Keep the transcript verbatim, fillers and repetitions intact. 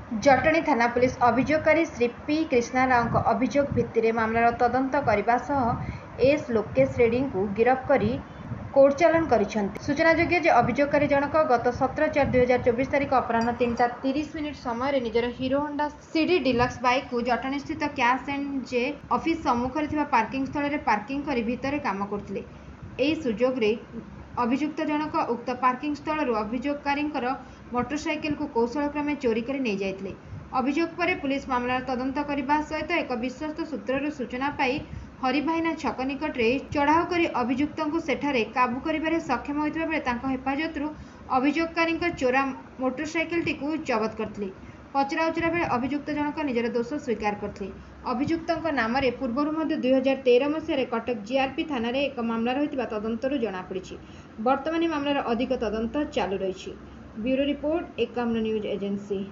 ଜଟଣୀ ଥାନା ପୁଲିସ ଅଭିଯୋଗକାରୀ ଶ୍ରୀ ପି କ୍ରିଷ୍ଣା ରାଓଙ୍କ ଅଭିଯୋଗ ଭିତ୍ତିରେ ମାମଲାର ତଦନ୍ତ କରିବା ସହ ଏସ୍ ଲୋକେଶ ରେଡ୍ଡୀଙ୍କୁ ଗିରଫ କରି କୋର୍ଟ ଚାଲାଣ କରିଛନ୍ତି। ସୂଚନାଯୋଗ୍ୟ ଯେ ଅଭିଯୋଗକାରୀ ଜଣକ ଗତ ସତର ଚାରି ଦୁଇ ହଜାର ଚବିଶ ତାରିଖ ଅପରାହ୍ନ ତିନିଟା ତିରିଶ ମିନିଟ୍ ସମୟରେ ନିଜର ହିରୋ ହୋଣ୍ଡା ସିଡି ଡିଲକ୍ସ ବାଇକ୍କୁ ଜଟଣୀସ୍ଥିତ କ୍ୟାସ୍ ଆଣ୍ଡ ଜେ ଅଫିସ ସମ୍ମୁଖରେ ଥିବା ପାର୍କିଂ ସ୍ଥଳରେ ପାର୍କିଂ କରି ଭିତରେ କାମ କରୁଥିଲେ। ଏହି ସୁଯୋଗରେ ଅଭିଯୁକ୍ତ ଜଣକ ଉକ୍ତ ପାର୍କିଂ ସ୍ଥଳରୁ ଅଭିଯୋଗକାରୀଙ୍କର ମୋଟରସାଇକେଲକୁ କୌଶଳକ୍ରମେ ଚୋରି କରି ନେଇଯାଇଥିଲେ। ଅଭିଯୋଗ ପରେ ପୁଲିସ ମାମଲାର ତଦନ୍ତ କରିବା ସହିତ ଏକ ବିଶ୍ୱସ୍ତ ସୂତ୍ରରୁ ସୂଚନା ପାଇ ହରିଭାଇନା ଛକ ନିକଟରେ ଚଢ଼ାଉ କରି ଅଭିଯୁକ୍ତଙ୍କୁ ସେଠାରେ କାବୁ କରିବାରେ ସକ୍ଷମ ହୋଇଥିବା ବେଳେ ତାଙ୍କ ହେଫାଜତରୁ ଅଭିଯୋଗକାରୀଙ୍କ ଚୋରା ମୋଟରସାଇକେଲଟିକୁ ଜବତ କରିଥିଲେ। ପଚରାଉଚରା ବେଳେ ଅଭିଯୁକ୍ତ ଜଣକ ନିଜର ଦୋଷ ସ୍ୱୀକାର କରିଥିଲେ। ଅଭିଯୁକ୍ତଙ୍କ ନାମରେ ପୂର୍ବରୁ ମଧ୍ୟ ଦୁଇ ହଜାର ତେର ମସିହାରେ କଟକ ଜିଆର୍ପି ଥାନାରେ ଏକ ମାମଲା ରହିଥିବା ତଦନ୍ତରୁ ଜଣାପଡ଼ିଛି। ବର୍ତ୍ତମାନ ଏହି ମାମଲାର ଅଧିକ ତଦନ୍ତ ଚାଲୁ ରହିଛି। Bureau report, Ekamra news agency.